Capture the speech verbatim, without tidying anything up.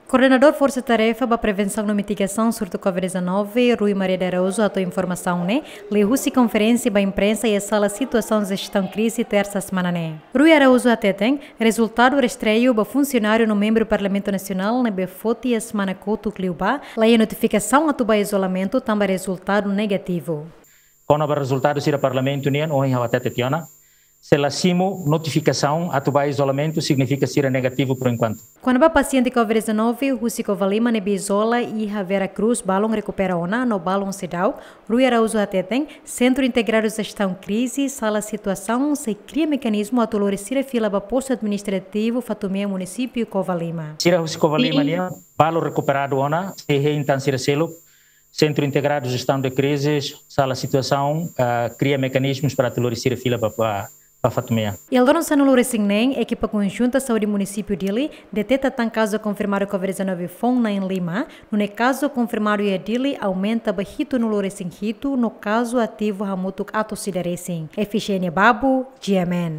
Koordenadór Forsa Tarefa ba Prevensaun no Mitigasaun Surtu Covid-19, Rui Maria de Araújo, hato'o informasaun ne'e liuhusi konferénsia ba imprensa iha Sala Situasaun Jestaun Krize, tersa semana ne'e. Rui Araújo hateten, rezultadu rastreiu ba funsionáriu no membru Parlamentu Nasionál ne'ebé foti iha semana kotuk liubá, la iha notifikasaun atu ba izolamentu tanba rezultadu negativu. Kona-ba rezultadu sira Parlamentu nian, ohin ha'u hatete tiha ona, se la simu notifikasaun atu ba izolamentu, signifika sira negativu por enkuantu. Kona-ba pasiente Covid-19 husi Covalima ne'ebé izola iha Vera Cruz, balun rekupera ona no balun seidauk, Rui Araújo hateten, Sentru Integradu Jestaun Krize, Sala Situasaun sei kria mekanizmu atu lori sira fila ba postu administrativu Fatumea, munisípiu Covalima. Sira husi Covalima nian, balun rekuperadu ona, sei hein tan sira seluk, Sentru Integradu Jestaun de Krize, Sala Situasaun, ah, kria mekanizmus para atu lori sira fila ba, ba, ba Fatumea. Iha loron sanulu-resin-neen, ekipa konjunta saúde munisípiu Dili deteta tan kazu konfirmadu Covid-19 foun na'in-lima, nune'e kazu konfirmadu iha Dili aumenta ba hitunulu-resin-hitu no kazu ativu hamutuk atus ida resin. Efigénia Babu, G M N.